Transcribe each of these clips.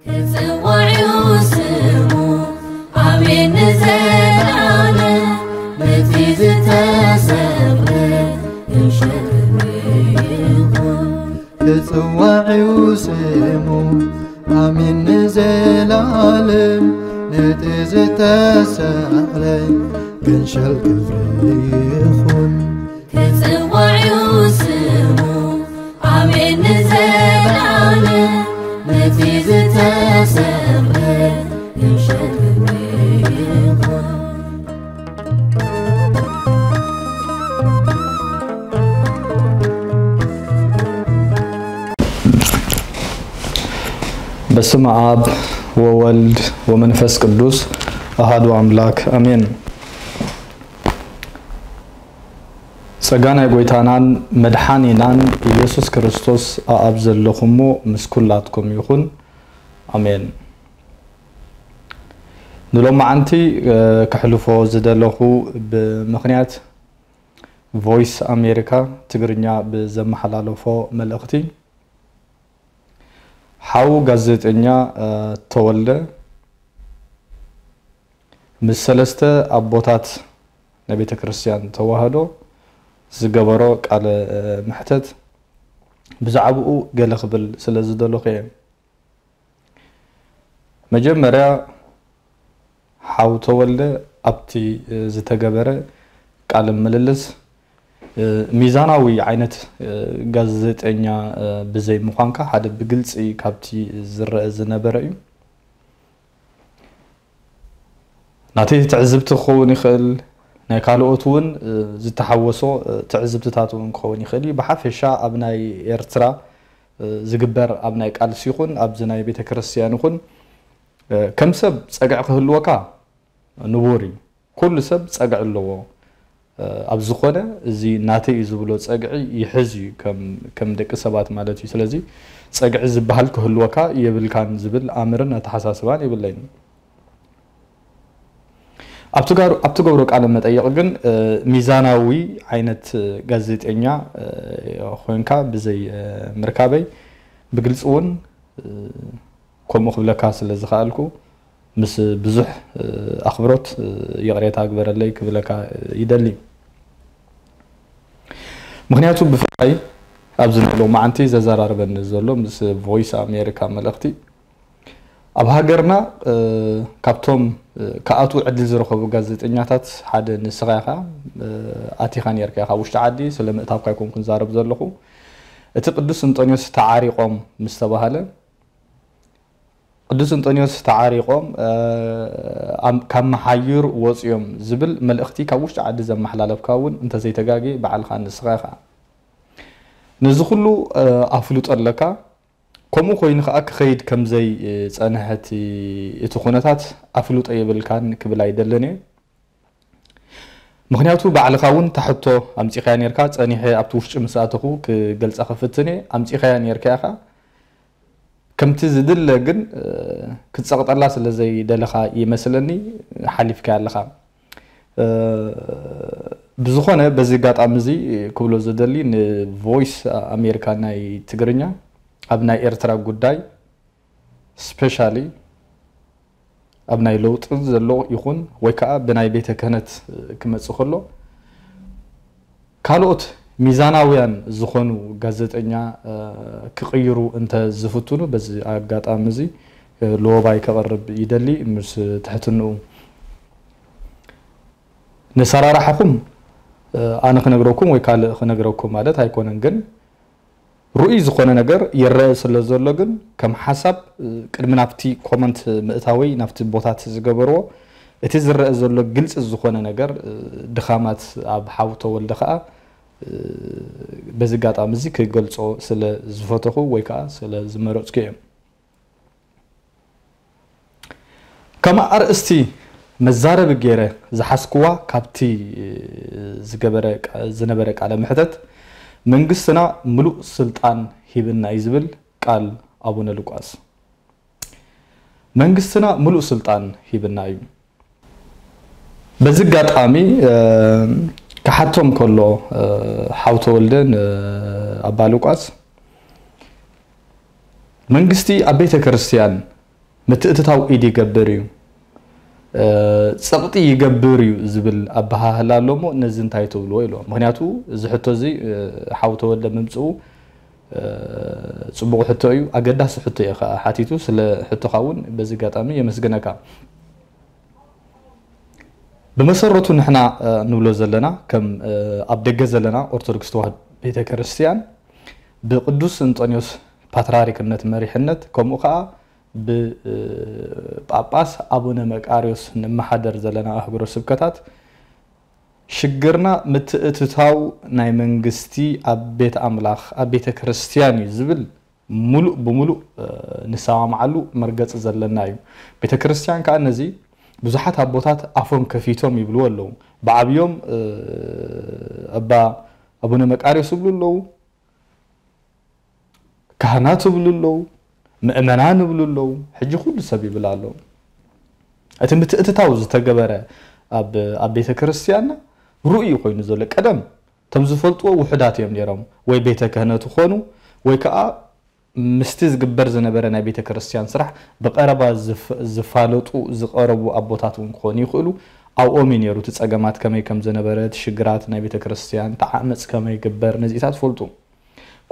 ክጽዋዕ እዩ ስሙ፣ ኣሜን ንዘለዓለም። ነቲ ዝተሰቕለ ክንሸል ክብሪ ይኹን። ክጽዋዕ እዩ ስሙ፣ ኣሜን ንዘለዓለም። ነቲ ዝተሰቕለ ክንሸል ክብሪ ይኹን። ክጽዋዕ እዩ ስሙ፣ ኣሜን ንዘለዓለም። ነቲ ዝተሰቕለ ክንሸል ክብሪ ይኹን። በስመ አብ ወወልድ ወመንፈስ ቅዱስ አሐዱ አምላክ አሜን። ጸጋ ናይ ጐይታናን መድሓኒናን ኢየሱስ ክርስቶስ ኣብ ዘለኹሞ ምስ ኩላትኩም ይኹን። ኣሜን። ንሎማዓንቲ፣ እ፣ ከሕልፎ ዝደለኹ ብምኽንያት ቮይስ ኣሜሪካ ትግርኛ ብዘመሓላለፎ መልእኽቲ፣ ሓው ጋዜጠኛ፣ እ፣ ተወልደ ምስ ሰለስተ ኣቦታት ናይ ቤተ ክርስቲያን ተዋህዶ ዝገበሮ ቃለ፣ እ፣ መሕተት ብዛዕባኡ ገለ ክብል ስለ ዝደለኹ እየ። መጀመርያ ሓው ተወልደ ኣብቲ፣ እ፣ ዝተገበረ ቃለ ምልልስ፣ እ፣ ሚዛናዊ ዓይነት፣ እ፣ ጋዜጠኛ፣ እ፣ ብዘይ ምዃንካ ሓደ ብግልጺ ካብቲ ዝረአ ዝነበረ እዩ። ናተይ ትዕዝብቲ ክኸውን ይኽእል፣ ናይ ካልኦት እውን፣ እ፣ ዝተሓወሶ፣ እ፣ ትዕዝብትታት እውን ክኸውን ይኽእል እዩ። ብሓፈሻ ኣብ ናይ ኤርትራ፣ እ፣ ዝግበር ኣብ ናይ ቃልሲ ይኹን ኣብዚ ናይ ቤተ ክርስቲያን ይኹን፣ እ፣ ከም ሰብ ጸግዒ ክህልወካ ንቡር እዩ። ኩሉ ሰብ ጸግዒ ኣለዎ። እ፣ ኣብ ዝኾነ እዚ ናተይ እዩ ዝብሎ ጸግዒ ይሕዝ እዩ፣ ከም፣ ከም ደቂ ሰባት ማለት እዩ። ስለዚ ጸግዒ ዝበሃል ክህልወካ የብልካን ዝብል ኣምርን ኣተሓሳስባን የብለይን። ኣብ ትጋሩ-፣ ኣብ ትገብሮ ቃለ መጠይቕ ግን፣ እ፣ ሚዛናዊ ዓይነት፣ እ፣ ጋዜጠኛ፣ እ፣ ኮይንካ ብዘይ፣ እ፣ ምርካበይ ብግልጺ እውን፣ እ፣ ከምኡ ክብለካ ስለ ዝኸኣልኩ ምስ ብዙሕ፣ እ፣ ኣኽብሮት፣ እ፣ ይቕሬታ ግበረለይ ክብለካ፣ እ፣ ይደሊ። ምኽንያቱ ብፍላይ ኣብዚ ናይ ሎማዓንቲ ዘዘራርበኒ ዘሎ ምስ ቮይስ ኣሜሪካ መልእኽቲ ኣብ ሃገርና፣ እ፣ ካብቶም፣ እ፣ ክኣትዉ ዕድል ዝረኸቡ ጋዜጠኛታት ሓደ ንስኻ ኢኻ። እ፣ ኣቲኻ ነይርካ ኢኻ ውሽጢ ዓዲ፣ ስለ ምእታውካ ኣይኮንኩን ዛረብ ዘለኹ። እቲ ቅዱስ እንጦንዮስ ተዓሪቖም ምስ ተባህለ፣ ቅዱስ እንጦንዮስ ተዓሪቖም፣ እ፣ ኣም-፣ ካብ መሓይር ወፂኦም ዝብል መልእኽቲ ካብ ውሽጢ ዓዲ ዘመሓላለፍካ እውን እንተዘይተጋጌ ባዕልኻ ንስኻ ኢኻ። ነዚ ኩሉ፣ እ፣ ኣፍልጦ ኣለካ። ከምኡ ኮይኑ ከዓ ክኸይድ ከምዘይ፣ እ፣ ጸንሐ እቲ፣ እቲ ኩነታት ኣፍልጦ የብልካን ክብል ኣይደልን እየ። ምኽንያቱ ባዕልኻ እውን ታሕቶ ኣምጺኻያ ነርካ፣ ጸኒሐ ኣብቲ ውሽጢ ምስ ኣተኹ ክገልጻ ክፍትን እየ። ኣምጺኻያ ነርካ ኢኻ። ከምቲ ዝድለ ግን፣ እ፣ ክትጸቕጠላ ስለ ዘይደለኻ ይመስለኒ ሓሊፍካያ ኣለኻ። እ፣ ብዝኾነ በዚ ኣጋጣሚ እዚ ክብሎ ዝደሊ ንቮይስ ኣሜሪካ ናይ ትግርኛ ኣብ ናይ ኤርትራ ጉዳይ ስፔሻሊ ኣብ ናይ ለውጢ ዘሎ ይኹን ወይ ከዓ ብናይ ቤተ ክህነት ክመጽእ ከሎ ካልኦት ሚዛናውያን ዝኾኑ ጋዜጠኛ፣ እ፣ ክቕይሩ እንተ ዝፍትኑ በዚ ኣጋጣሚ እዚ፣ እ፣ ለወባይ ከቕርብ ይደሊ ምስ ትሕትንኡ። ነሰራርሓኹም፣ እ፣ ኣነ ክነግረኩም ወይ ካልእ ክነግረኩም ማለት ኣይኮነን፣ ግን ርኡይ ዝኾነ ነገር ይረአ ስለ ዘሎ ግን ከም ሓሳብ፣ እ፣ ቅድሚ ናብቲ ኮመንት ምእታወይ ናብቲ ቦታት ዝገበርዎ እቲ ዝረአ ዘሎ ግልፂ ዝኾነ ነገር፣ እ፣ ድኻማት ኣብ ሓው ተወልደ ከዓ፣ እ፣ በዚ ኣጋጣሚ እዚ ክገልፆ ስለ ዝፈተኹ ወይ ከዓ ስለ ዝመረፅኩ እዮም። ከም ኣርእስቲ መዛረቢ ገይረ ዝሓዝክዋ ካብቲ ዝገበረ፣ ዝነበረ ቃለ መሕተት መንግስትና ምሉእ ስልጣን ሂብና እዩ ዝብል ቃል ኣቡነ ሉቃስ። መንግስትና ምሉእ ስልጣን ሂብና እዩ። በዚ ኣጋጣሚ፣ እ፣ ክሓቶም ከሎ፣ እ፣ ሓው ተወልደ ንኣባ ሉቃስ መንግስቲ ኣብ ቤተ ክርስቲያን ምትእትታው ኢድ ይገብር እዩ፣ ጸቕጢ ይገብር እዩ ዝብል ኣበሃህላ ኣሎ። እሞ ነዚ እንታይ ትብልዎ ኢልዎ። ምክንያቱ እዚ ሕቶ እዚ ሓው ተወልደ ምምፅኡ ጽቡቕ ሕቶ እዩ፣ ኣገዳሲ ሕቶ እዩ ከዓ ሓቲቱ። ስለ ሕቶኻ እውን በዚ ኣጋጣሚ የመስግነካ። ብመሰረቱ ንሕና ንብሎ ዘለና ከም ኣብ ደገ ዘለና ኦርቶዶክስ ተዋህዶ ቤተ ክርስቲያን ብቅዱስ እንጦንዮስ ፓትርያርክነት መሪሕነት ከምኡ ከዓ ብጳጳስ ኣቡነ መቃርዮስ ንመሓደር ዘለና ኣህጉረ ስብከታት ሽግርና ምትእትታው ናይ መንግስቲ ኣብ ቤት ኣምላኽ ኣብ ቤተ ክርስቲያን እዩ ዝብል ሙሉእ ብሙሉእ ንሰማማዓሉ መርገፂ ዘለና እዩ። ቤተ ክርስቲያን ከዓ ነዚ ብዙሓት ኣቦታት ኣፎም ከፊቶም ይብልዎ ኣለዉ። ብዓብዮም ኣባ ኣቡነ መቃርዮስ ይብሉ ኣለዉ። ካህናት ይብሉ ኣለዉ፣ ምእመናን ይብሉ ኣለዉ። ሕጂ ኩሉ ሰብ ይብል ኣሎ። እቲ ምትእትታው ዝተገበረ ኣብ ኣብ ቤተ ክርስቲያንና ርኡይ ኮይኑ ዘሎ ቀደም እቶም ዝፈልጥዎ ውሑዳት እዮም ነይሮም። ወይ ቤተ ክህነት ይኾኑ ወይ ከዓ ምስቲ ዝግበር ዝነበረ ናይ ቤተ ክርስቲያን ስራሕ ብቐረባ ዝፋለጡ ዝቐረቡ ኣቦታት እውን ክኾኑ ይኽእሉ። ኣብኦም እዩ ነይሩ እቲ ፀገማት ከመይ ከም ዝነበረ፣ እቲ ሽግራት ናይ ቤተ ክርስቲያን፣ እቲ ዓመፅ ከመይ ይግበር፣ ነዚታት ትፈልጡ።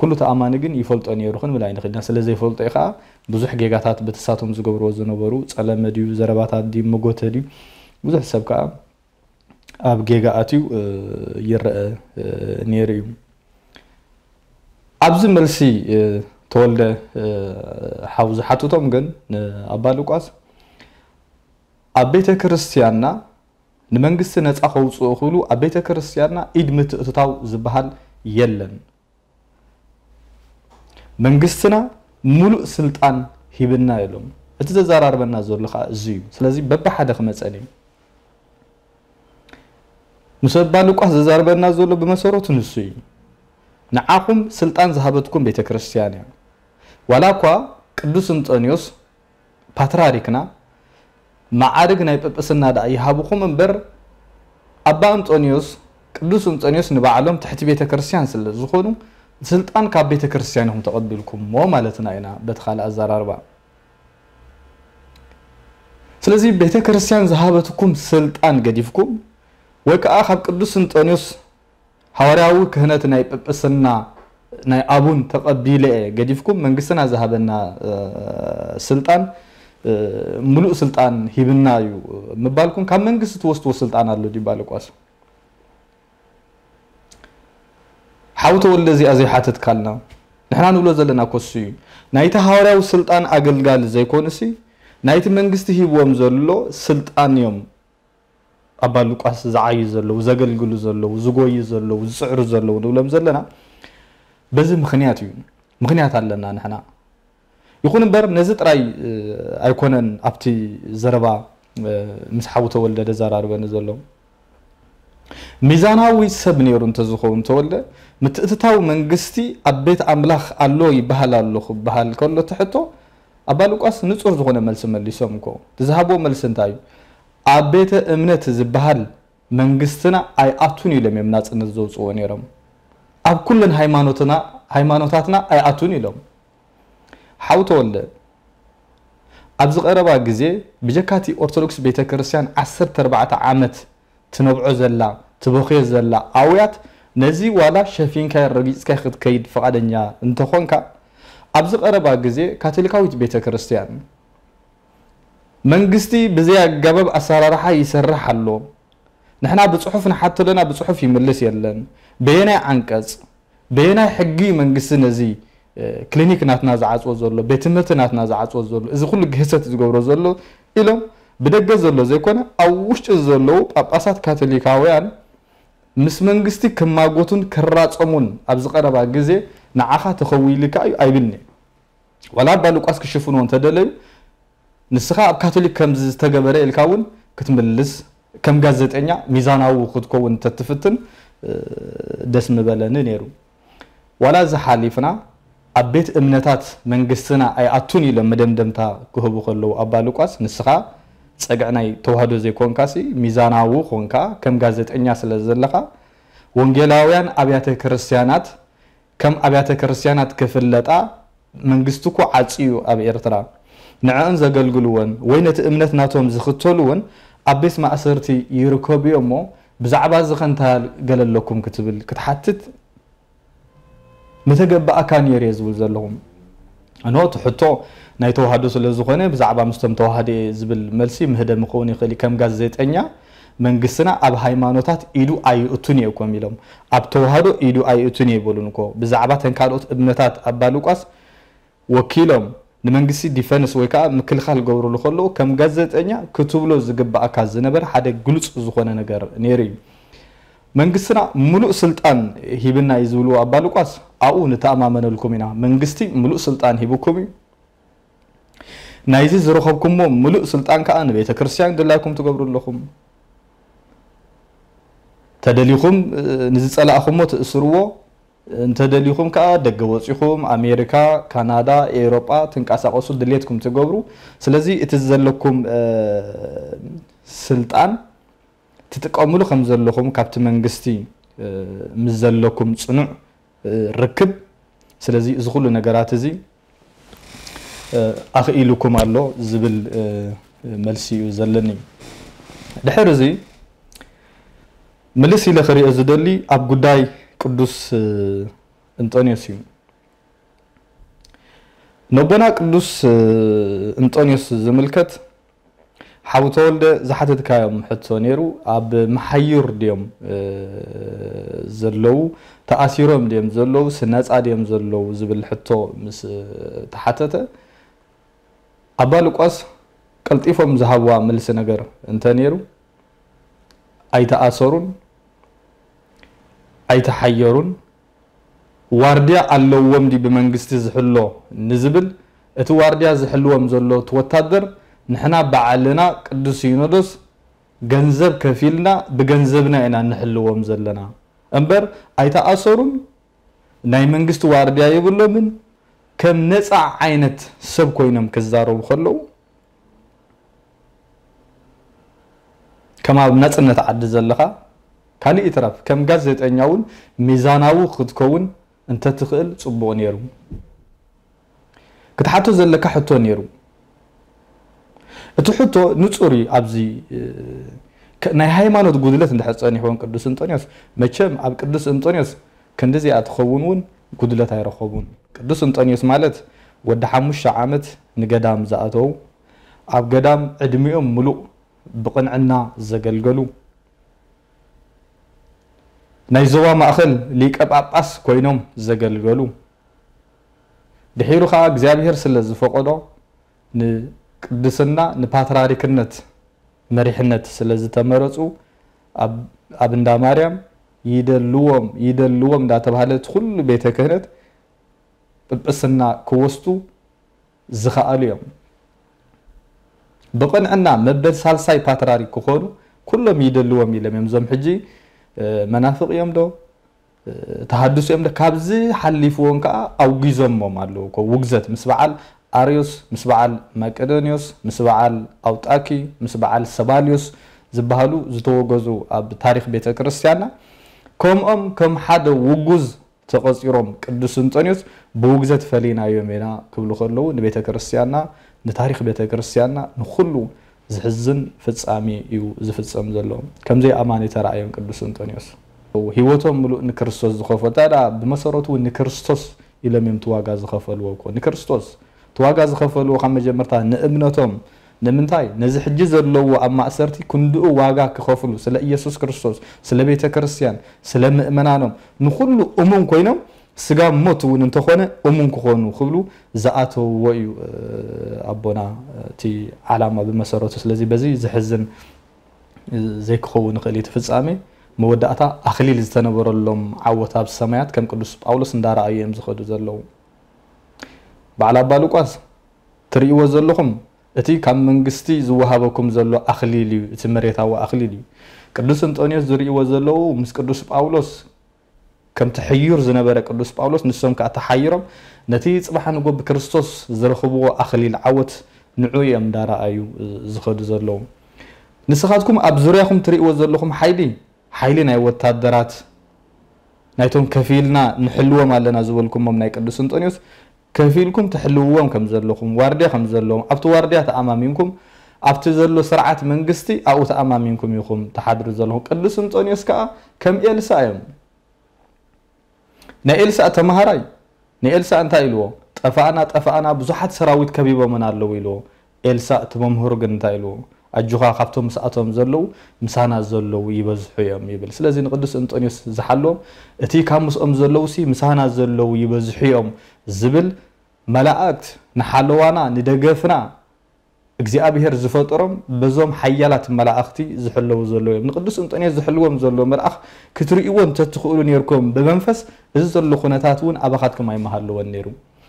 ኩሉ ተኣማኒ ግን ይፈልጦ ነይሩ ክንብል ኣይንኽእልና። ስለ ዘይፈልጦ እዩ ከዓ ብዙሕ ጌጋታት በቲ ሳቶም ዝገብርዎ ዝነበሩ፣ ጸለመ ድዩ፣ ዘረባታት ድዩ፣ መጎተ ድዩ፣ ብዙሕ ሰብ ከዓ ኣብ ጌጋ ኣትዩ ይረአ ነይሩ እዩ። ኣብዚ መልሲ ተወልደ ሓው ዝሓትቶም ግን ንኣባ ሉቃስ ኣብ ቤተ ክርስቲያንና ንመንግስቲ ነፃ ከውፅኡ ክብሉ ኣብ ቤተ ክርስቲያንና ኢድ ምትእትታው ዝበሃል የለን። መንግስትና ሙሉእ ስልጣን ሂብና ኢሎም። እቲ ዘዘራርበና ዘሎ ከዓ እዚ እዩ። ስለዚ በብሓደ ክመፀን እዩ። ምስ ኣባ ሉቃስ ዘዛርበና ዘሎ ብመሰረቱ ንሱ እዩ። ንዓኹም ስልጣን ዝሃበትኩም ቤተ ክርስቲያን እያ። ዋላ እኳ ቅዱስ እንጦንዮስ ፓትርያርክና መዓርግ ናይ ጵጵስና ደኣ ይሃብኹም እምበር ኣባ እንጦንዮስ ቅዱስ እንጦንዮስ ንባዕሎም ትሕቲ ቤተ ክርስቲያን ስለ ዝኾኑ ስልጣን ካብ ቤተ ክርስቲያን ኢኹም ተቐቢልኩሞ ማለትና ኢና በቲ ካልእ ኣዘራርባ። ስለዚ ቤተ ክርስቲያን ዝሃበትኩም ስልጣን ገዲፍኩም ወይ ከዓ ካብ ቅዱስ እንጦንዮስ ሃዋርያዊ ክህነት ናይ ጵጵስና ናይ ኣቡን ተቐቢለ እየ ገዲፍኩም መንግስትና ዝሃበና ስልጣን ሙሉእ ስልጣን ሂብና እዩ ምባልኩም ካብ መንግስቲ ትወስድዎ ስልጣን ኣሎ ድዩ ኣባ ሉቃስ? ሓው ተወልደ እዚኣ ዘይሓተትካልና ንሕና ንብሎ ዘለና ኮሱ እዩ። ናይቲ ሃዋርያዊ ስልጣን ኣገልጋሊ ዘይኮኑሲ ናይቲ መንግስቲ ሂብዎም ዘሎ ስልጣን እዮም ኣባ ሉቃስ ዝዓዩ ዘለዉ፣ ዘገልግሉ ዘለዉ፣ ዝጎዩ ዘለዉ፣ ዝፅዕሩ ዘለዉ ንብሎም ዘለና በዚ ምኽንያት እዩ። ምኽንያት ኣለና ንሕና። ይኹን እምበር ነዚ ጥራይ ኣይኮነን ኣብቲ ዘረባ ምስ ሓው ተወልደ ደዘራርበኒ ዘሎ። ሚዛናዊ ሰብ ነይሩ እንተዝኸውን ተወልደ ምትእትታው መንግስቲ ኣብ ቤት ኣምላኽ ኣሎ ይበሃል ኣሎ ክበሃል ከሎ እቲ ሕቶ ኣባ ሉቃስ ንጹር ዝኾነ መልሲ መሊሶም እኮ። እቲ ዝሃብዎ መልሲ እንታይ እዩ? ኣብ ቤተ እምነት ዝበሃል መንግስትና ኣይኣቱን ኢሎም እዮም ናጽነት ዘውጽዎ ነይሮም። ኣብ ኩለን ሃይማኖትና ሃይማኖታትና ኣይኣቱን ኢሎም። ሓው ተወልደ ኣብዚ ቀረባ ግዜ ብጀካቲ ኦርቶዶክስ ቤተ ክርስቲያን ዓሰርተ ኣርባዕተ ዓመት ትነብዖ ዘላ ትበኽዮ ዘላ ኣውያት ነዚ ዋላ ሸፊንካ ረጊጽካ ክትከይድ ፍቓደኛ እንተኾንካ ኣብዚ ቀረባ ግዜ ካቶሊካዊት ቤተ ክርስቲያን መንግስቲ ብዘይ ኣገባብ ኣሰራርሓ ይሰርሕ ኣሎ። ንሕና ብጽሑፍ ንሓቶ ኣለና፣ ብጽሑፍ ይምልስ የለን። በየናይ ዓንቀጽ፣ በየናይ ሕጊ እዩ መንግስቲ ነዚ ክሊኒክ ናትና ዝዓጽዎ ዘሎ፣ ቤት ትምህርቲ ናትና ዝዓጽዎ ዘሎ፣ እዚ ኩሉ ግህሰት ዝገብሮ ዘሎ ኢሎም ብደገ ዘሎ ዘይኮነ ኣብ ውሽጢ ዘለዉ ጳጳሳት ካቶሊካውያን ምስ መንግስቲ ክማጎቱን ክራጸሙን ኣብዚ ቀረባ ግዜ ንዓኻ ተኸዊልካ እዩ ኣይብልኒ። ዋላ ኣባ ሉቃስ ክሽፍንዎ እንተደለዩ ንስኻ ኣብ ካቶሊክ ከም ዝተገበረ ኢልካ እውን ክትምልስ ከም ጋዜጠኛ ሚዛናዊ ክትከውን እንተትፍትን ደስ ምበለኒ ነይሩ። ዋላ እዚ ሓሊፍና ኣብ ቤት እምነታት መንግስትና ኣይኣቱን ኢሎም መደምደምታ ክህቡ ከለዉ ኣባ ሉቃስ ንስኻ ጸግዒ ናይ ተዋህዶ ዘይኮንካሲ ሚዛናዊ ኮንካ ከም ጋዜጠኛ ስለ ዘለኻ ወንጌላውያን ኣብያተ ክርስቲያናት ከም ኣብያተ ክርስቲያናት ክፍለጣ መንግስቲ እኮ ዓጽዩ ኣብ ኤርትራ ንዕእን ዘገልግልወን ወይ ነቲ እምነት ናቶም ዝኽተልወን ኣብ ቤት ማእሰርቲ ይርከቡ እዮም እሞ፣ ብዛዕባ እዚ ኸ እንታይ ገለ ኣለኩም ክትብል ክትሓትት ምተገባእካ ነይሩ እየ ዝብል ዘለኹም። እኖ እቲ ሕቶ ናይ ተዋህዶ ስለ ዝኾነ ብዛዕባ ምስቶም ተዋህዶ እየ ዝብል መልሲ ምህደም ክኸውን ይኽእል እዩ። ከም ጋዜጠኛ መንግስትና ኣብ ሃይማኖታት ኢዱ ኣይእቱን እየ እኮም ኢሎም። ኣብ ተዋህዶ ኢዱ ኣይእቱን እየ ይበሉን እኮ። ብዛዕባ ተን ካልኦት እምነታት ኣባ ሉቃስ ወኪሎም ንመንግስቲ ዲፈንስ ወይ ከዓ ምክልኻል ገብርሉ ከለዉ ከም ጋዜጠኛ ክትብሎ ዝግባእካ ዝነበረ ሓደ ግሉፅ ዝኾነ ነገር ነይሩ እዩ። መንግስትና ሙሉእ ስልጣን ሂብና እዩ ዝብልዎ ኣባ ሉቃስ ኣብኡ ንተኣማመነልኩም ኢና። መንግስቲ ሙሉእ ስልጣን ሂብኩም እዩ። ናይዚ ዝረኸብኩሞ ሙሉእ ስልጣን ከዓ ንቤተ ክርስቲያን ድላይኩም ትገብሩ ኣለኹም። ተደሊኹም ንዝፀላእኹሞ ትእስርዎ፣ እንተደሊኹም ከዓ ደገ ወፂኹም ኣሜሪካ፣ ካናዳ፣ ኤውሮጳ ትንቀሳቐሱ ድሌትኩም ትገብሩ። ስለዚ እቲ ዘለኩም ስልጣን ትጥቀምሉ ከም ዘለኹም ካብቲ መንግስቲ ምስ ዘለኩም ፅኑዕ ርክብ። ስለዚ እዚ ኩሉ ነገራት እዚ ኣኽኢሉኩም ኣሎ ዝብል መልሲ እዩ ዘለኒ። ድሕሪ እዚ ምልስ ኢለ ክሪኦ ዝደሊ ኣብ ጉዳይ ቅዱስ እንጦንዮስ እዩ። ነቦና ቅዱስ እንጦንዮስ ዝምልከት ሓው ተወልደ ዝሓተትካዮም ሕቶ ነይሩ። ኣብ መሓዩር ድዮም ዘለዉ፣ ተኣሲሮም ድዮም ዘለዉ፣ ስነፃ ድዮም ዘለዉ ዝብል ሕቶ ምስ ተሓተተ ኣባ ሉቃስ ቀልጢፎም ዝሃብዋ መልሲ ነገር እንተ ነይሩ፣ ኣይተኣሰሩን ኣይተሓየሩን። ዋርድያ ኣለዎም ድዩ ብመንግስቲ ዝሕሎ ንዝብል፣ እቲ ዋርድያ ዝሕልዎም ዘሎ እቲ ወታደር ንሕና ባዕልና ቅዱስ ሲኖዶስ ገንዘብ ከፊልና ብገንዘብና ኢና ንሕልዎም ዘለና እምበር ኣይተኣሰሩን ናይ መንግስቲ ዋርድያ የብሎምን። ከም ነፃ ዓይነት ሰብ ኮይኖም ክዛረቡ ከለዉ ከም ኣብ ናፅነት ዓዲ ዘለኻ ካልእ ይትረፍ ከም ጋዜጠኛ እውን ሚዛናዊ ክትከውን እንተትኽእል ፅቡቕ ነይሩ። ክትሓቶ ዘለካ ሕቶ ነይሩ። እቲ ሕቶ ንፁር እዩ። ኣብዚ ናይ ሃይማኖት ጉድለት እንድሕር ፀኒሕዎም ቅዱስ እንጦንዮስ፣ መቸም ኣብ ቅዱስ እንጦንዮስ ክንድዚኣ ትኸውን እውን ጉድለት ኣይረኸቡን። ቅዱስ እንጦንዮስ ማለት ወዲ ሓሙሽተ ዓመት ንገዳም ዝኣተዉ፣ ኣብ ገዳም ዕድሚኦም ምሉእ ብቕንዕና ዘገልገሉ፣ ናይ ዞባ ማእኸል ሊቀ ጳጳስ ኮይኖም ዘገልገሉ፣ ድሒሩ ኸዓ እግዚኣብሔር ስለ ዝፈቐዶ ንቅድስና ንፓትራሪክነት መሪሕነት ስለ ዝተመረፁ ኣብ እንዳ ማርያም ይደልዎም ይደልዎም እንዳተባሃለ እቲ ኩሉ ቤተ ክህነት ጵጵስና ክወስዱ ዝኸኣሉ እዮም። ብቕንዕና መበል ሳልሳይ ፓትራሪክ ክኾኑ ኩሎም ይደልዎም ኢሎም እዮም። እዞም ሕጂ መናፍቕ እዮም ዶ ተሃድሶ እዮም ዶ ካብዚ ሓሊፍዎም ከዓ ኣውጊዞሞም ኣለዉ እኮ። ውግዘት ምስ በዓል ኣርዮስ፣ ምስ በዓል መቄዶንዮስ፣ ምስ በዓል ኣውጣኪ፣ ምስ በዓል ሰባልዮስ ዝበሃሉ ዝተወገዙ ኣብ ታሪኽ ቤተ ክርስቲያንና ከምኦም ከም ሓደ ውጉዝ ተቐፂሮም ቅዱስ እንጦንዮስ ብውግዘት ፈሊናዮም ኢና ክብሉ ከለዉ ንቤተ ክርስቲያንና ንታሪኽ ቤተ ክርስቲያንና ንኹሉ ዝሕዝን ፍጻሜ እዩ ዝፍጸም ዘሎ። ከምዘይ ኣማኒ ተራእዮም ቅዱስ እንጦንዮስ ህይወቶም ምሉእ ንክርስቶስ ዝኸፈሉ። ታዲያ ብመሰረቱ እውን ንክርስቶስ ኢሎም እዮም እቲ ዋጋ ዝኸፈልዎ እኮ። ንክርስቶስ እቲ ዋጋ ዝኸፈልዎ ካብ መጀመርታ ንእምነቶም ንምንታይ ነዚ ሕጂ ዘለዎ ኣብ ማእሰርቲ ክንድኡ ዋጋ ክኸፍሉ ስለ ኢየሱስ ክርስቶስ፣ ስለ ቤተ ክርስቲያን፣ ስለ ምእመናኖም ንኹሉ እሙን ኮይኖም ስጋብ ሞት እውን እንተኾነ እሙን ክኾኑ ክብሉ ዝኣተውዎ እዩ ኣቦና እቲ ዓላማ ብመሰረቱ። ስለዚ በዚ ዝሕዝን ዘይክኸውን ይኽእል እዩ እቲ ፍጻሜ። መወዳእታ ኣኽሊል ዝተነበረሎም ዓወት ኣብ ሰማያት ከም ቅዱስ ጳውሎስ እንዳረኣዩ እዮም ዝኸዱ ዘለዉ። በዓል ኣባ ሉቃስ ትርእይዎ ዘለኹም እቲ ካብ መንግስቲ ዝወሃበኩም ዘሎ ኣኽሊል እዩ፣ እቲ መሬታዊ ኣኽሊል እዩ። ቅዱስ እንጦንዮስ ዝርእይዎ ዘለዉ ምስ ቅዱስ ጳውሎስ ከምቲ ሕዩር ዝነበረ ቅዱስ ጳውሎስ ንሶም ከኣ ተሓይሮም ነቲ ጽባሕ ንጎ ብክርስቶስ ዝረኽብዎ ኣኽሊል ዓወት ንዑ እዮም እንዳረኣዩ ዝኸዱ ዘለዉ። ንስኻትኩም ኣብ ዙርያኹም ትርእይዎ ዘለኹም ሓይሊ፣ ሓይሊ ናይ ወታደራት ናይቶም ከፊልና ንሕልዎም ኣለና ዝበልኩሞም ናይ ቅዱስ እንጦንዮስ ከፊልኩም ትሕልውዎም ከም ዘለኹም፣ ዋርድያ ከም ዘለዎም፣ ኣብቲ ዋርድያ ተኣማሚንኩም፣ ኣብቲ ዘሎ ስርዓት መንግስቲ ኣብኡ ተኣማሚንኩም ኢኹም ትሓድሩ ዘለኹም። ቅዱስ እንጦንዮስ ከኣ ከም ኤልሳ እዮም። ናይ ኤልሳ ተማሃራይ ንኤልሳ እንታይ ኢልዎ? "ጠፋእና፣ ጠፋእና፣ ብዙሓት ሰራዊት ከቢቦምና ኣለዉ" ኢልዎ። ኤልሳ እቲ መምህሩ ግን እንታይ ኢልዎ? "ኣጆኻ፣ ካብቶም ምስኣቶም ዘለዉ ምሳና ዘለዉ ይበዝሑ እዮም" ይብል። ስለዚ ንቅዱስ እንጦንዮስ ዝሓልዎም እቲ ካብ ምስኦም ዘለዉ ሲ ምሳና ዘለዉ ይበዝሑ እዮም ዝብል መላእክት ንሓለዋና ንደገፍና እግዚኣብሔር ዝፈጠሮም በዞም ሓያላት መላእኽቲ ዝሕለዉ ዘለዉ እዮም። ንቅዱስ እንጦንዮስ ዝሕልዎም ዘሎ መልኣኽ ክትርእይዎ እንተትኽእሉ ነይርኩም ብመንፈስ፣ እዚ ዘሎ ኩነታት እውን ኣባኻትኩም ኣይምሃለወን ነይሩ።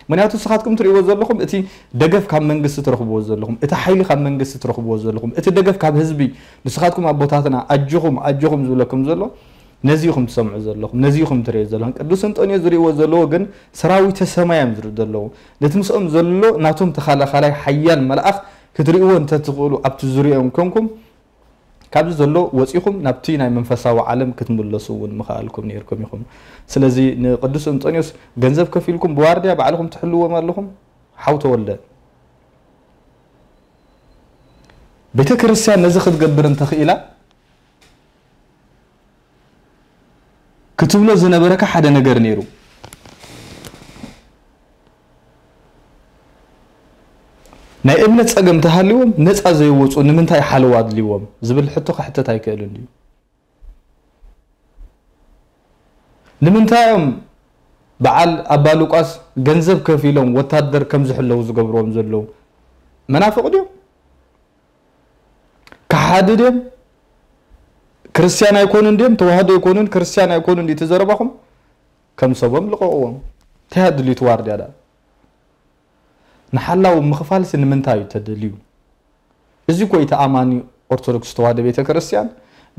ምክንያቱ ንስኻትኩም ትርእይዎ ዘለኹም እቲ ደገፍ ካብ መንግስቲ ትረኽብዎ ዘለኹም፣ እቲ ሓይሊ ካብ መንግስቲ ትረኽብዎ ዘለኹም፣ እቲ ደገፍ ካብ ህዝቢ፣ ንስኻትኩም ኣቦታትና ኣጆኹም ኣጆኹም ዝብለኩም ዘሎ ነዚ ኢኹም ትሰምዑ ዘለኹም፣ ነዚ ኢኹም ትርእዩ ዘለኹም። ቅዱስ እንጦንዮስ ዝርእይዎ ዘለዎ ግን ሰራዊተ ሰማይ እዮም ዝርእዩ ዘለዉ። ነቲ ምስኦም ዘሎ ናቶም ተኻላኻላይ ሓያል መልኣኽ ክትርእይዎ እንተትኽእሉ ኣብቲ ዙርያኦም ኮንኩም ካብዚ ዘሎ ወፂኹም ናብቲ ናይ መንፈሳዊ ዓለም ክትምለሱ እውን ምኽኣልኩም ነይርኩም ኢኹም። ስለዚ ንቅዱስ እንጦንዮስ ገንዘብ ከፊልኩም ብዋርድያ ባዕልኹም ትሕልዎም ኣለኹም። ሓው ተወልደ፣ ቤተ ክርስቲያን ነዚ ክትገብር እንተኽኢላ ክትብሎ ዝነበረካ ሓደ ነገር ነይሩ። ናይ እምነት ጸገም ተሃልዎም ነጻ ዘይወጹ ንምንታይ ሓለዋ ኣድልዎም ዝብል ሕቶ ክሕተት ኣይክእልን ድዩ? ንምንታይ እዮም በዓል ኣባ ሉቃስ ገንዘብ ከፊሎም ወታደር ከም ዝሕለዉ ዝገብርዎም ዘለዉ? መናፍቕ ድዮም? ከሓዲ ድዮም? ክርስትያን ኣይኮኑን ድዮም? ተዋህዶ ኣይኮኑን፣ ክርስትያን ኣይኮኑን ድዩ? እቲ ዘረባኹም ከም ሰቦም ልቐቕዎም። እንታይ ኣድልዩ እቲ ዋርድያ ደኣ? ንሓላዊ ምኽፋልሲ ንምንታይ እዩ ተደልዩ? እዚ እኮ እዩ እቲ ኣማኒ ኦርቶዶክስ ተዋህዶ ቤተ ክርስቲያን፣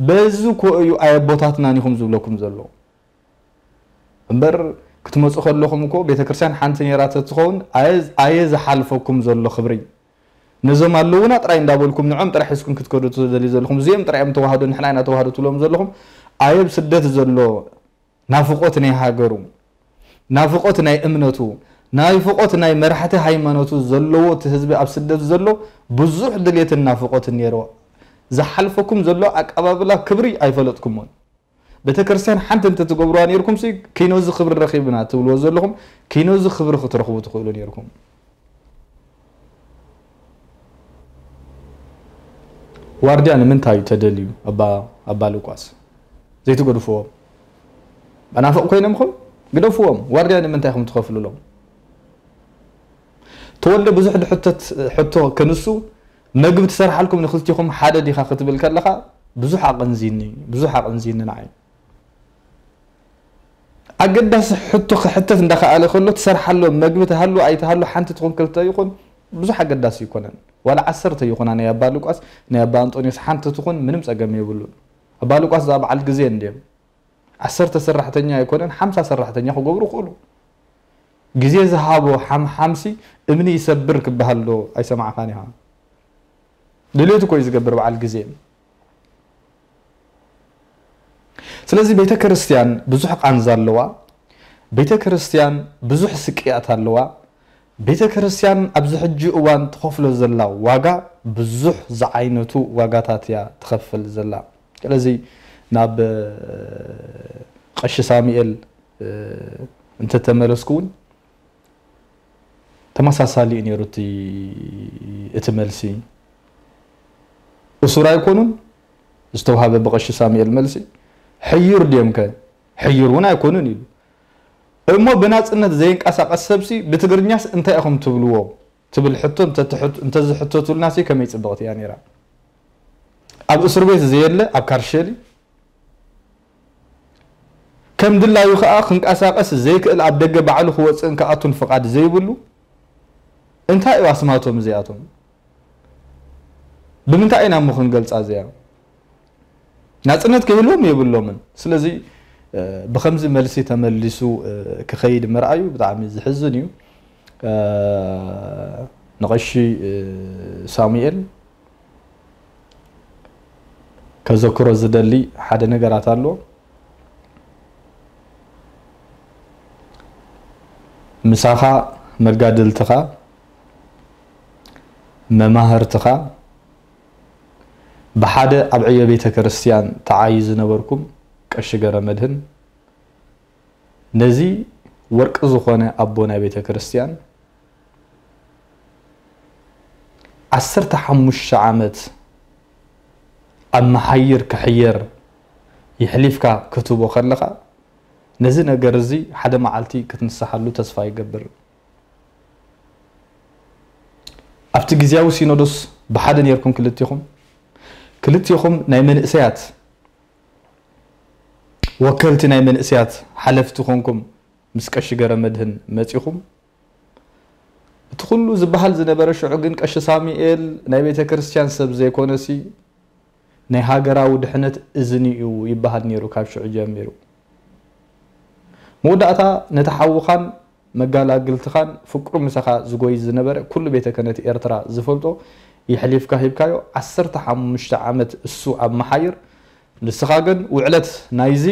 በዚ እኮ እዩ ኣየቦታትናን ኢኹም ዝብለኩም ዘሎ። እምበር ክትመፁ ከለኹም እኮ ቤተ ክርስቲያን ሓንቲ ነይራ ተትኸውን ኣየ ኣየ ዝሓልፈኩም ዘሎ ክብሪ። ነዞም ኣለዉና ጥራይ እንዳበልኩም ንዖም ጥራይ ሒዝኩም ክትከዱ ትደልዩ ዘለኹም። እዚኦም ጥራይ እዮም ተዋህዶ፣ ንሕና ኢና ተዋህዶ ትብሎም ዘለኹም። ኣየ ኣብ ስደት ዘሎ ናፍቖት ናይ ሃገሩ፣ ናፍቖት ናይ እምነቱ፣ ናፍቖት ናይ መራሕቲ ሃይማኖቱ ዘለዎ እቲ ህዝቢ ኣብ ስደት ዘሎ ብዙሕ ድሌትን ናፍቖትን ነይርዎ። ዝሓልፈኩም ዘሎ ኣቀባብላ ክብሪ ኣይፈለጥኩሞን። ቤተ ክርስቲያን ሓንቲ እንተትገብሩዋ ነይርኩም ሲ ኪኖዚ ክብሪ ረኺብና ትብልዎ ዘለኹም፣ ኪኖዚ ክብሪ ክትረኽቡ ትኽእሉ ነይርኩም። ዋርድያ ንምንታይ እዩ ተደልዩ? ኣባ ኣባ ሉቃስ ዘይትገድፍዎም? መናፍቕ ኮይኖም ኹም ግደፍዎም። ዋርድያ ንምንታይ ኢኹም ትኸፍልሎም? ተወልደ ብዙሕ ድሕተት ሕቶ ከንሱ፣ መግቢ ትሰርሓልኩም ንክልቲኹም ሓደ ዲኻ ክትብል ከለኻ ብዙሕ ኣቐንዚኒ፣ ብዙሕ ኣቐንዚኒ ንዓይ። ኣገዳሲ ሕቶ ክሕተት እንዳኸኣለ ከሎ ትሰርሓሎም መግቢ ትሃሉ ኣይትሃሉ ሓንቲ ትኹን ክልተ ይኹን ብዙሕ ኣገዳሲ ይኮነን። ዋላ ዓሰርተ ይኹና ናይ ኣባ ሉቃስ ናይ ኣባ ኣንጦንዮስ ሓንቲ ትኹን ምንም ጸገም የብሉን። ኣባ ሉቃስ እዛ በዓል ግዜ እንድዮም። ዓሰርተ ሰራሕተኛ ኣይኮነን ሓምሳ ሰራሕተኛ ክገብሩ ይኽእሉ። ግዜ ዝሃቦ ሓምሓምሲ እምኒ ይሰብር ክበሃል ዶ ኣይሰማዕኻን ኢኻ? ድሌቱ እኮ እዩ ዝገብር በዓል ግዜ። ስለዚ ቤተ ክርስቲያን ብዙሕ ቃንዛ ኣለዋ። ቤተ ክርስቲያን ብዙሕ ስቅያት ኣለዋ። ቤተ ክርስቲያን ኣብዚ ሕጂ እዋን ትኸፍሎ ዘላ ዋጋ ብዙሕ ዝዓይነቱ ዋጋታት እያ ትኸፍል ዘላ። ስለዚ ናብ ቀሺ ሳሙኤል እንተተመለስኩ እውን ተመሳሳሊ እዩ ነይሩ እቲ እቲ መልሲ። እሱር ኣይኮኑን ዝተውሃበ ብቐሺ ሳሙኤል መልሲ። ሕዩር ድዮም ከ? ሕዩር እውን ኣይኮኑን ኢሉ። እሞ ብናጽነት ዘይንቀሳቐስ ሰብሲ ብትግርኛስ እንታይ ኢኹም ትብልዎ? ትብል ሕቶ እንተትሕት- እንተዝሕተቱልና ሲ ከመይ ጽብቕቲ እያ ነይራ። ኣብ እስር ቤት ዘየለ ኣብ ካርሸሊ ከም ድላዩ ከኣ ክንቀሳቐስ ዘይክእል ኣብ ደገ ባዕሉ ክወጽእን ክኣቱን ፍቓድ ዘይብሉ እንታይ እዩ ኣስማቶም እዚኣቶም? ብምንታይ ኢና እሞ ክንገልጻ እዚኣ? ናጽነት ክህልዎም የብሎምን። ስለዚ ብከምዚ መልሲ ተመሊሱ ክኸይድ ምርኣዩ ብጣዕሚ ዝሕዝን እዩ። ንቐሺ ሳሙኤል ከዘክሮ ዝደሊ ሓደ ነገራት ኣሎ። ምሳኻ መጋድልትኻ፣ መማህርትኻ፣ ብሓደ ኣብ ዕዮ ቤተ ክርስቲያን ተዓዩ ዝነበርኩም ቀሺ ገረመድህን፣ ነዚ ወርቂ ዝኾነ ኣቦ ናይ ቤተ ክርስቲያን ዓሰርተ ሓሙሽተ ዓመት ኣብ መሓይር ክሕየር የሕሊፍካ ክትቦ ከለኻ፣ ነዚ ነገር እዚ ሓደ መዓልቲ ክትንስሓሉ ተስፋ ይገብር። ኣብቲ ግዜያዊ ሲኖዶስ ብሓደ ነርኩም ክልቲኹም፣ ክልቲኹም ናይ መንእሰያት ወከልቲ ናይ መንእሰያት ሓለፍቲ ኮንኩም ምስ ቀሺ ገረመድህን መጺኹም። እቲ ኩሉ ዝበሃል ዝነበረ ሽዑ ግን ቀሺ ሳሙኤል ናይ ቤተ ክርስቲያን ሰብ ዘይኮነሲ ናይ ሃገራዊ ድሕነት እዝኒ እዩ ይበሃል ነይሩ ካብ ሽዑ ጀሚሩ። መወዳእታ ነቲ ሓውኻን መጋላግልትኻን ፍቅሩ ምሳኻ ዝጎይ ዝነበረ ኩሉ ቤተ ክህነት ኤርትራ ዝፈልጦ የሕሊፍካ ሂብካዮ። ዓሰርተ ሓሙሽተ ዓመት እሱ ኣብ መሓይር፣ ንስኻ ግን ውዕለት ናይዚ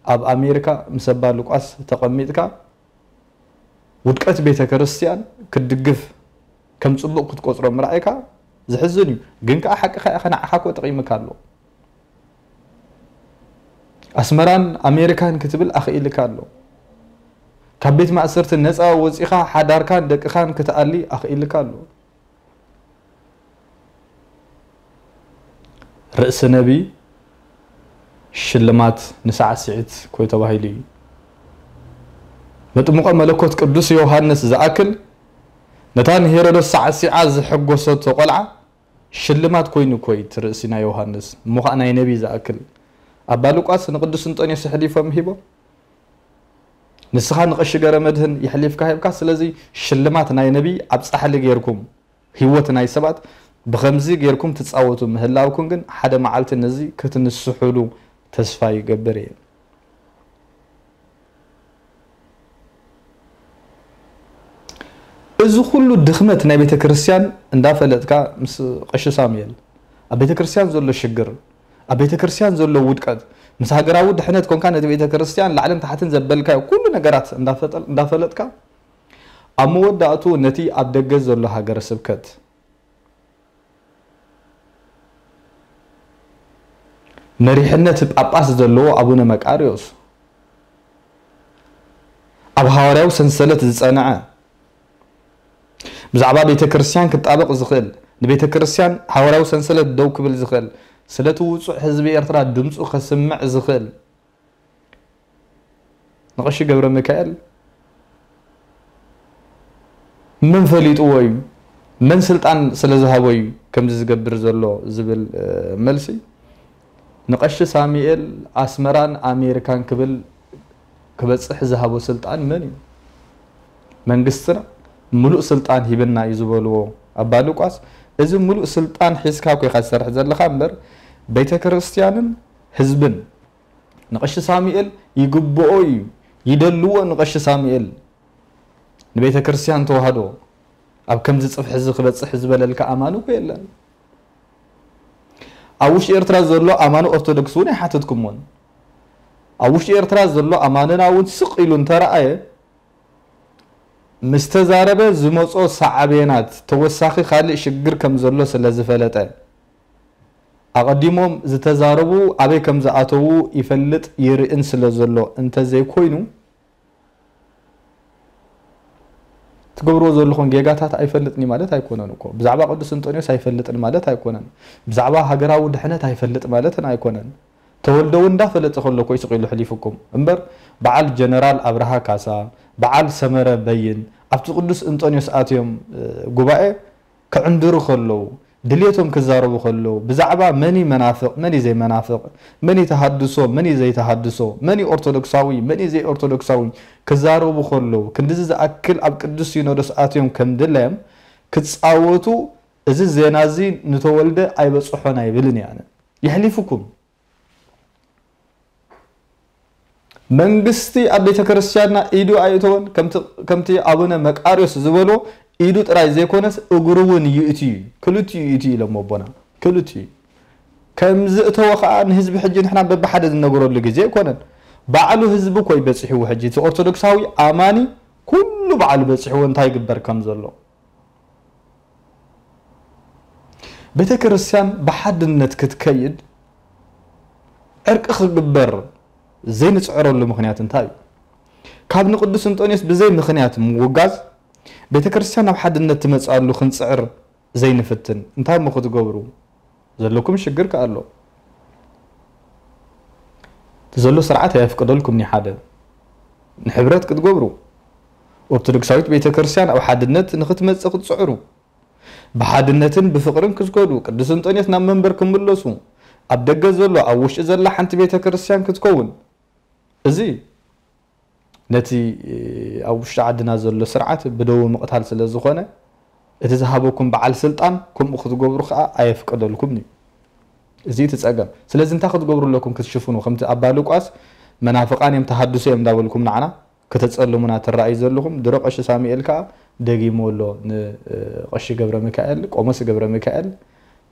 ኣብ ኣሜሪካ ምስ ኣባ ሉቃስ ተቐሚጥካ ውድቀት ቤተ ክርስቲያን ክትድግፍ ከም ጽቡቕ ክትቆጽሮ ምርኣይካ ዝሕዝን እዩ። ግን ከኣ ሓቅኻ ኢኻ፣ ንዓኻ እኮ ጠቒምካ ኣሎ። ኣስመራን ኣሜሪካን ክትብል ኣኽኢልካ ኣሎ። ካብ ቤት ማእሰርቲ ነጻ ወጺኻ ሓዳርካን ደቅኻን ክትኣሊ ኣኽኢልካ ኣሎ። ርእሲ ነቢ ሽልማት ንሳዕስዒት ኮይ ተባሂሉ እዩ። መጥምቆ መለኮት ቅዱስ ዮሃንስ ዝኣክል ነታ ንሄሮዶስ ሳዕሲዓ ዝሐጎሰቶ ቆልዓ ሽልማት ኮይኑ ኮይ እቲ ርእሲ ናይ ዮሃንስ እሞ ኸዓ ናይ ነቢ ዝኣክል። ኣባ ሉቃስ ንቅዱስ እንጦንዮስ ሕሊፎም ሂቦ። ንስኻ ንቀሺ ገረመድህን የሕሊፍካ ሂብካ። ስለዚ ሽልማት ናይ ነቢ ኣብ ጻሕሊ ጌርኩም ህይወት ናይ ሰባት ብኸምዚ ጌርኩም ትጻወቱ ምህላውኩም ግን ሓደ መዓልቲ ነዚ ክትንስሑሉ ተስፋ ይገብር እየ። እዚ ኩሉ ድኽመት ናይ ቤተ ክርስቲያን እንዳፈለጥካ ምስ ቀሺ ሳሙኤል ኣብ ቤተ ክርስቲያን ዘሎ ሽግር፣ ኣብ ቤተ ክርስቲያን ዘሎ ውድቀት፣ ምስ ሃገራዊ ድሕነት ኮንካ ነቲ ቤተ ክርስቲያን ላዕልን ታሕትን ዘበልካዮ ኩሉ ነገራት እንዳፈጠል-፣ እንዳፈለጥካ ኣብ መወዳእቱ ነቲ ኣብ ደገ ዘሎ ሃገረ ስብከት መሪሕነት ጳጳስ ዘለዎ ኣቡነ መቃርዮስ ኣብ ሃዋርያዊ ሰንሰለት ዝጸንዐ ብዛዕባ ቤተ ክርስቲያን ክጣበቕ ዝኽእል ንቤተ ክርስቲያን ሃዋርያዊ ሰንሰለት ደው ክብል ዝኽእል ስለቲ ውጹዕ ህዝቢ ኤርትራ ድምጹ ከስምዕ ዝኽእል ንቐሺ ገብረ ሚካኤል መን ፈሊጥዎ እዩ? መን ስልጣን ስለ ዝሃቦ እዩ ከምዚ ዝገብር ዘሎ ዝብል፣ እ፣ መልሲ ንቐሺ ሳሙኤል ኣስመራን ኣሜሪካን ክብል ክበጽሕ ዝሃቦ ስልጣን መን እዩ? መንግስትና ምሉእ ስልጣን ሂብና እዩ ዝበልዎ ኣባ ሉቃስ፣ እዚ ምሉእ ስልጣን ሒዝካ እኮ ኢኻ ትሰርሕ ዘለኻ እምበር ቤተ ክርስቲያንን ህዝብን ንቐሺ ሳሙኤል ይግብኦ እዩ፣ ይደልዎ ንቐሺ ሳሙኤል። ንቤተ ክርስቲያን ተዋህዶ ኣብ ከምዚ ጽፍሒ እዚ ክበጽሕ ዝበለልካ ኣማኒ እኮ የለን። ኣብ ውሽጢ ኤርትራ ዘሎ ኣማኒ ኦርቶዶክስ እውን ኣይሓተትኩሞን። ኣብ ውሽጢ ኤርትራ ዘሎ ኣማንና እውን ስቕ ኢሉ እንተረኣየ፣ ምስ ተዛረበ ዝመጾ ሳዕቤናት ተወሳኺ ካልእ ሽግር ከም ዘሎ ስለ ዝፈለጠ፣ ኣቐዲሞም ዝተዛረቡ ኣበይ ከም ዝኣተዉ ይፈልጥ ይርእን ስለ ዘሎ እንተዘይኮይኑ፣ ትገብርዎ ዘለኹም ጌጋታት ኣይፈልጥን እዩ ማለት ኣይኮነን እኮ። ብዛዕባ ቅዱስ እንጦንዮስ ኣይፈልጥን ማለት ኣይኮነን። ብዛዕባ ሃገራዊ ድሕነት ኣይፈልጥ ማለትን ኣይኮነን። ተወልደ እውን እንዳፈለጠ ከሎ እኮ እዩ ስቕ ኢሉ ሕሊፉኩም። እምበር በዓል ጀነራል ኣብርሃ ካሳ፣ በዓል ሰመረ በይን ኣብቲ ቅዱስ እንጦንዮስ ኣትዮም፣ እ፣ ጉባኤ ክዕንድሩ ከለዉ፣ ድሌቶም ክዛረቡ ከለዉ፣ ብዛዕባ መን እዩ መናፍቕ፣ መን እዩ ዘይመናፍቕ፣ መን እዩ ተሃድሶ፣ መን እዩ ዘይተሃድሶ፣ መን እዩ ኦርቶዶክሳዊ፣ መን እዩ ዘይኦርቶዶክሳዊ ክዛረቡ ከለዉ፣ ክንድዚ ዝኣክል ኣብ ቅዱስ ሲኖዶስ ኣትዮም ከም ድላዮም ክጻወቱ፣ እዚ ዜና እዚ ንተወልደ ኣይበጽሖን ኣይብልን እየ ኣነ። የሕሊፉኩም። መንግስቲ ኣብ ቤተ ክርስቲያንና ኢዱ ኣየእተወን። ከምቲ፣ ከምቲ ኣቡነ መቃርዮስ ዝበሎ ኢዱ ጥራይ ዘይኮነስ እግሩ እውን ይእቲ እዩ። ክልቲኡ ይእቲ እዩ ኢሎም ኣቦና። ክልቲኡ እዩ። ከም ዝእተወ ኸዓ ንህዝቢ ሕጂ ንሕና በብሓደ ዝነገረሉ ግዜ ኣይኮነን። ባዕሉ ህዝቢ እኮ እዩ በጺሕዎ ሕጂ። እቲ ኦርቶዶክሳዊ ኣማኒ ኩሉ በዓል በጺሕዎ እንታይ ይግበር ከም ዘሎ። ቤተ ክርስቲያን ብሓድነት ክትከይድ ዕርቂ ክግበር ዘይንጽዕረሉ ምኽንያት እንታይ እዩ? ካብ ንቅዱስ እንጦንዮስ ብዘይ ምኽንያት ምውጋዝ ቤተ ክርስቲያን ናብ ሓድነት ትመጽኣሉ ክንጽዕር ዘይንፍትን እንታይ እሞ ክትገብሩ? ዘለኩም ሽግር ከ ኣሎ። እቲ ዘሎ ስርዓት ኣየፍቅደልኩም። ንሓደ ንሕብረት ክትገብሩ ኦርቶዶክሳዊት ቤተ ክርስቲያን ኣብ ሓድነት ንክትመጽእ ክትጽዕሩ፣ ብሓድነትን ብፍቕርን ክስገዱ፣ ቅዱስ እንጦንዮስ ናብ መንበር ክምለሱ፣ ኣብ ደገ ዘሎ ኣብ ውሽጢ ዘላ ሓንቲ ቤተ ክርስቲያን ክትከውን፣ እዚ ነቲ ኣብ ውሽጢ ዓድና ዘሎ ስርዓት ብደዊ ምቕታል ስለ ዝኾነ፣ እቲ ዝሃበኩም በዓል ስልጣን ከምኡ ክትገብሩ ከኣ ኣየፍቀደልኩም እዩ። እዚ እቲ ጸገም። ስለዚ እንታይ ክትገብሩ ኣለኩም ክትሽፍኑ? ከምቲ ኣባ ሉቃስ መናፍቃን እዮም፣ ተሃድሶ እዮም እንዳበልኩም ንዓና ከተጸልሙና ትረኣዩ ዘለኹም። ድሮ ቀሺ ሳሙኤል ከኣ ደጊሙ ኣሎ ንቀሺ ገብረ ሚካኤል፣ ቆሞስ ገብረ ሚካኤል፣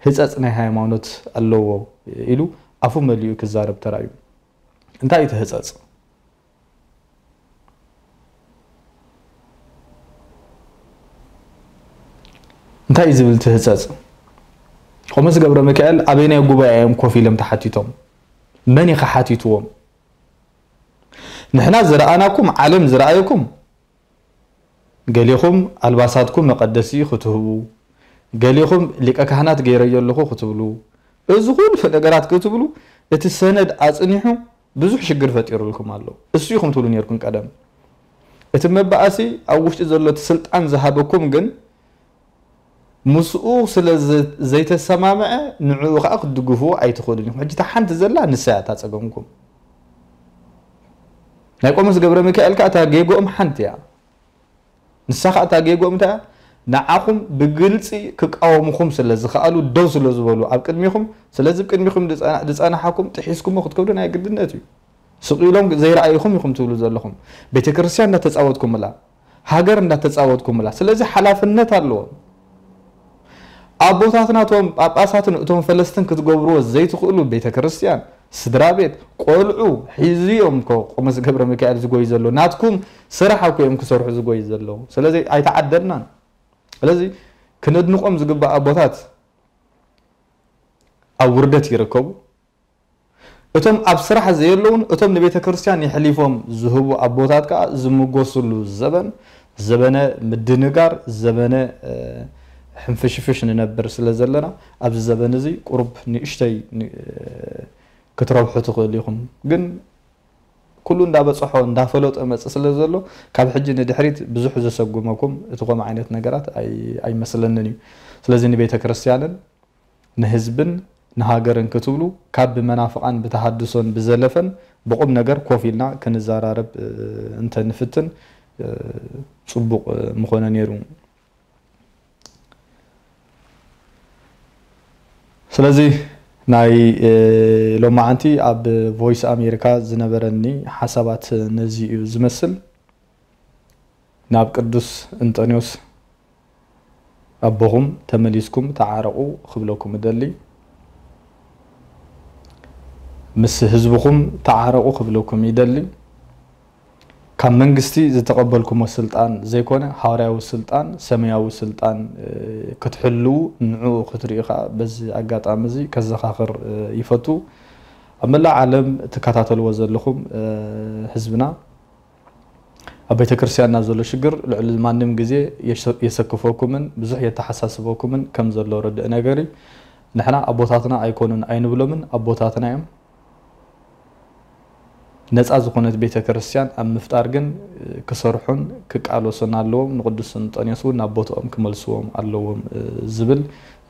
ህጸጽ ናይ ሃይማኖት ኣለዎ ኢሉ ኣፉ መሊኡ ክዛረብ ተራእዩ። እንታይ እዩ እቲ ህጸጽ? እንታይ እዩ ዝብል እቲ ህጸጽ? ቆሞስ ገብረ ሚካኤል ኣበየናይ ጉባኤ እዮም ኮፍ ኢሎም ተሓቲቶም? መን እዩ ሓቲትዎም? ንሕና ዝረኣናኩም፣ ዓለም ዝረኣየኩም፣ ገሌኹም ኣልባሳትኩም መቐደሲ ክትህቡ፣ ገሌኹም ሊቀ ካህናት ገይረዮ ኣለኹ ክትብሉ፣ እዚ ኩሉ ነገራት ክትብሉ፣ እቲ ሰነድ ኣጽኒሑ ብዙሕ ሽግር ፈጢሩልኩም ኣሎ። እሱ ኢኹም ትብሉ ነርኩም ቀደም። እቲ መባእሲ ኣብ ውሽጢ ዘሎ እቲ ስልጣን ዝሃበኩም ግን ምስኡ ስለ ዘ-፣ ዘይተሰማምዐ ንዕኡ ከኣ ክትድግፍዎ ኣይትኽእሉን ኢኹም። ሕጂ እታ ሓንቲ ዘላ ንሳ እያ እታ ጸገምኩም። ናይ ቆሞስ ገብረ ሚካኤል ከኣ እታ ጌግኦም ሓንቲ እያ። ንሳ ከኣ እታ ጌግኦም እንታይ እያ? ንዓኹም ብግልጺ ክቃወሙኹም ስለ ዝኸኣሉ ደው ስለ ዝበሉ ኣብ ቅድሚኹም፣ ስለዚ ኣብ ቅድሚኹም ዝጸና-፣ ዝጸናሓኩም ጥሒስኩሞ ክትከዱ ናይ ግድነት እዩ። ስቕ ኢሎም ዘይረኣይኹም ኢኹም ትብሉ ዘለኹም። ቤተ ክርስቲያን እንዳተጻወትኩምላ፣ ሃገር እንዳተጻወትኩምላ። ስለዚ ሓላፍነት ኣለዎም። ኣቦታትና እቶም ጳጳሳትን እቶም ፈለስትን ክትገብርዎ ዘይትኽእሉ ቤተ ክርስቲያን፣ ስድራ ቤት፣ ቆልዑ ሒዙ እዮም እኮ ቆሞስ ገብረ ሚካኤል ዝጎዩ ዘሎ። ናትኩም ስራሕ እኮ እዮም ክሰርሑ ዝጎዩ ዘለዉ። ስለዚ ኣይተዓደልናን። ስለዚ ክነድንቖም ዝግባእ ኣቦታት ኣብ ውርደት ይርከቡ። እቶም ኣብ ስራሕ ዘየለውን እቶም ንቤተ ክርስቲያን የሕሊፎም ዝህቡ ኣቦታት ከኣ ዝምጎስሉ ዘበን፣ ዘበነ ምድንጋር፣ ዘበነ፣ እ፣ ሕንፍሽፍሽ ንነብር ስለ ዘለና፣ ኣብዚ ዘበን እዚ ቁሩብ ንእሽተይ ን-፣ ክትረብሑ ትኽእሉ ኢኹም። ግን ኩሉ እንዳበጽሖ፣ እንዳፈለጦ መጽእ ስለ ዘሎ፣ ካብ ሕጂ ንድሕሪት ብዙሕ ዘሰጉመኩም እቲ ከምኡ ዓይነት ነገራት ኣይ-፣ ኣይመስለንን እዩ። ስለዚ ንቤተ ክርስቲያንን ንህዝብን ንሃገርን ክትብሉ፣ ካብ ብመናፍቓን ብተሃድሶን ብዘለፈን ብቑም ነገር ኮፍ ኢልና ክንዘራረብ፣ እ፣ እንተንፍትን፣ እ፣ ጽቡቕ፣ እ፣ ምኾነ ነይሩ። ስለዚ ናይ፣ እ፣ ሎማዓንቲ ኣብ ቮይስ ኣሜሪካ ዝነበረኒ ሓሳባት ነዚ እዩ ዝመስል። ናብ ቅዱስ እንጠንዮስ ኣቦኹም ተመሊስኩም ተዓረቑ ክብለኩም እደሊ። ምስ ህዝብኹም ተዓረቑ ክብለኩም ይደሊ። ካብ መንግስቲ ዝተቐበልኩሞ ስልጣን ዘይኮነ፣ ሃዋርያዊ ስልጣን፣ ሰማያዊ ስልጣን፣ እ፣ ክትሕልዉ ንዕኡ ክትርእዩ ከኣ በዚ ኣጋጣሚ እዚ ከዘኻኽር፣ እ፣ ይፈቱ። ኣብ መላእ ዓለም ትከታተልዎ ዘለኹም፣ እ፣ ህዝብና፣ ኣብ ቤተ ክርስቲያንና ዘሎ ሽግር ልዕሊ ማንም ግዜ የሸ-፣ የሰክፈኩምን ብዙሕ የተሓሳስበኩምን ከም ዘሎ ርድእ ነገር እዩ። ንሕና ኣቦታትና ኣይኮኑን ኣይንብሎምን፣ ኣቦታትና እዮም። ነጻ ዝኾነት ቤተ ክርስቲያን ኣብ ምፍጣር ግን፣ እ፣ ክሰርሑን ክቃለሱን ኣለዎም። ንቅዱስ እንጠንዮስ እውን ናብ ቦትኦም ክመልስዎም ኣለዎም፣ እ፣ ዝብል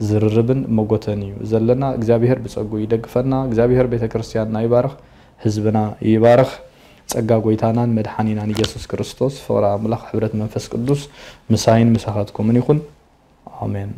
ዝርርብን መጎተን እዩ ዘለና። እግዚኣብሔር ብጸጉ ይደግፈና። እግዚኣብሔር ቤተ ክርስቲያንና ይባርኽ፣ ህዝብና ይባርኽ። ጸጋ ጎይታናን መድሓኒናን ኢየሱስ ክርስቶስ፣ ፍቕሪ ኣምላኽ፣ ሕብረት መንፈስ ቅዱስ ምሳይን ምሳኻትኩምን ይኹን። ኣሜን።